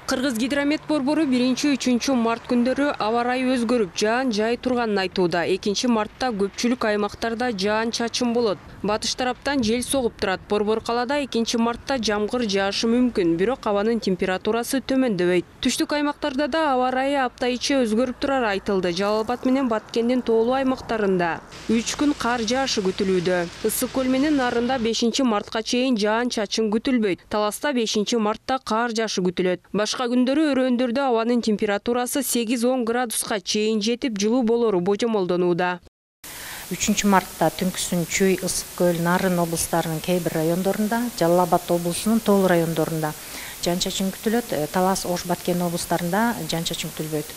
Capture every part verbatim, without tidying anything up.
Кыргыз гидромет борбору биринчи үчүнчү март күндөрү аба ырайы өзгөрүп, жаан жай турганын айтууда. экинчи мартта көпчүлүк аймактарда жаан чачын болот. Батыш тараптан жел согуп турат. Борбор калаада экинчи мартта жамгыр жаашы мүмкүн, бирок абанын температурасы төмөндөбөйт. Түштүк аймактарда да аба ырайы апта ичи өзгөрүп турары айтылды. Жалал Абад менен Баткендин тоолуу аймактарында үч күн кар жаашы күтүлүүдө. Ысык көл менен Нарында бешинчи мартка чейин жаан чачын күтүлбөйт. Таласта бешинчи мартта кар жаашы күтүлөт. Башка күндөрү өрөөндөрдө абанын температурасы сегиз он градуска чейин жетип, жылуу болору божомолдонууда. үчүнчү мартта түнкүсүн Чүй, Ысык көл, Нарын облустарынын кээ бир райондорунда, Жалал Абад облусунун тоолуу райондорунда жаан чачын күтүлөт. Талас, Ош, Баткен облустарында жаан чачын күтүлбөйт.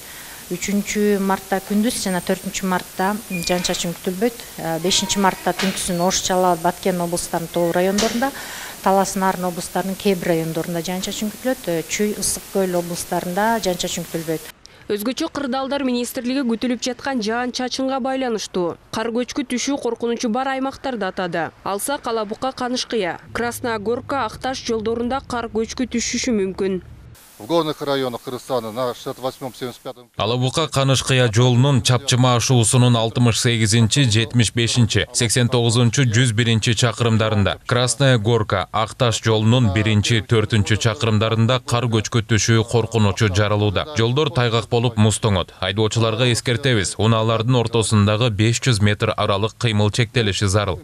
үчүнчү мартта күндүз жана төртүнчү мартта жаан чачын күтүлбөйт. бешинчи мартта түнкүсүн Ош, Жалал Абад, Баткен облустарынын тоолуу райондорунда, Талас, Нарын облустарынын кээ бир райондорунда жаан чачын күтүлөт. Чүй, Ысык көл облустарында жаан чачын күтүлбөйт. Өзгөчө Кырдаалдар министрлиги күтүлүп жаткан жаан чачынга байланыштуу кар көчкү түшүү коркунучу бар аймактарды атады. Алсак, Ала Бука, Канышкыя, Красная Горка, Акташ жолдорунда кар көчкү түшүшү мүмкүн. В горных районах Кыргызстана на шестьдесят восьмом — семьдесят пятом. Ала Бука Канышкыя жолунун чапчыма ашуусунун алтымыш сегизинчи, жетимиш бешинчи, сексен тогузунчу, жүз биринчи чакырымдарында, Красная Горка, Акташ жолунун биринчи, төртүнчү чакырымдарында кар көчкү түшүү коркунучу жаралууда. Жолдор тайгак болуп муздоңот. Айдоочуларга эскертебиз, унаалардын ортосундагы беш жүз метр аралык кыймыл чектелиши зарыл.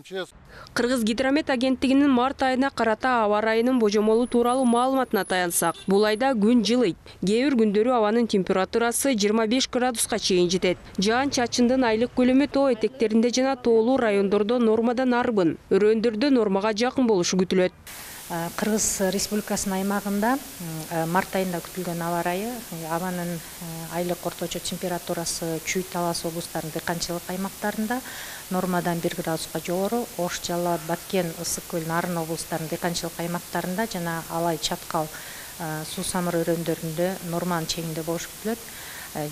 Кыргыз гидромет агенттигинин март айына карата аба ырайынын божомолу тууралуу маалыматына таянсак, бул айда күн жылыйт. Кээ бир күндөрү абанын температурасы жыйырма беш градуска чейин жетет. Жаан чачындын айлык көлөмү тоо этектеринде жана тоолуу райондордо нормадан арбын, өрөөндөрдө нормага жакын болушу күтүлөт. Кыргыз Республикасынын аймагында март айында күтүлгөн аба ырайы, абанын айлык орточо температурасы Чүй, Талас облустарынын дыйканчылык аймактарында нормадан бир градуска жогору, Ош, Жалал Абад, Баткен, Ысык көл, Нарын облустарынын дыйканчылык аймактарында жана Алай, Чаткал, Суу Самыр өрөөндөрүндө норманын чегинде болушу күтүлөт.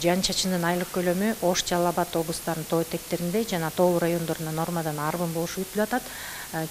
Жаан чачындын айлык көлөмү Ош, Жалал Абад облустарынын тоо этектеринде жана тоолуу райондорунда нормадан арбын болушу күтүлүп атат.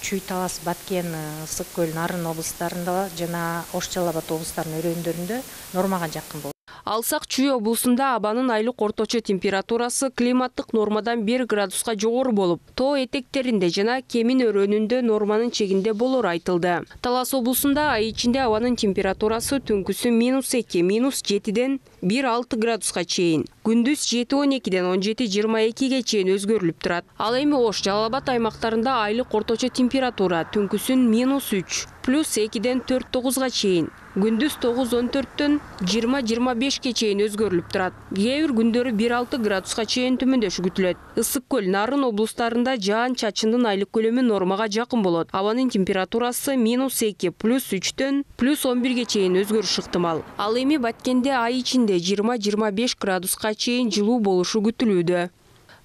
Чүй, Талас, Баткен, Ысык көл, Нарын облустарында жана Ош, Жалал Абад облустарынын өрөөндөрүндө нормага жакын болот. Алсак, Чүй облусунда абанын айлык орточо температурасы климаттык нормадан бир градуска жогору болуп, тоо этектеринде жана Кемин өрөөнүндө норманын чегинде болору айтылды. Талас облусунда ай ичинде абанын температурасы түнкүсү минус эки, минус жетиден бир алты градуска чейин, күндүз жети он экиден он жети жыйырма экиге чейин өзгөрүлүп турат. Ал эми Ош, Жалал Абад аймактарында айлык орточо температура түнкүсүн минус үч, плюс экиден төрт тогузга чейин, күндүз тогуз он төрттөн жыйырма жыйырма бешке чейин өзгөрүлүп турат. Кээ бир күндөрү бир алты градуска чейин төмөндөшү күтүлөт. Ысык көл, Нарын облустарында жаан чачындын айлык көлөмү нормага жакын болот. Абанын температурасы минус эки, плюс үчтөн плюс он бирге чейин өзгөрүш ыктымал. Ал эми Баткенде ай ичинде жыйырма жыйырма беш градуска чейин жылуу болушу күтүлүүдө.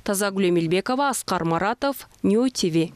Тазагүл Эмилбекова, Аскар Маратов, Нью ТВ.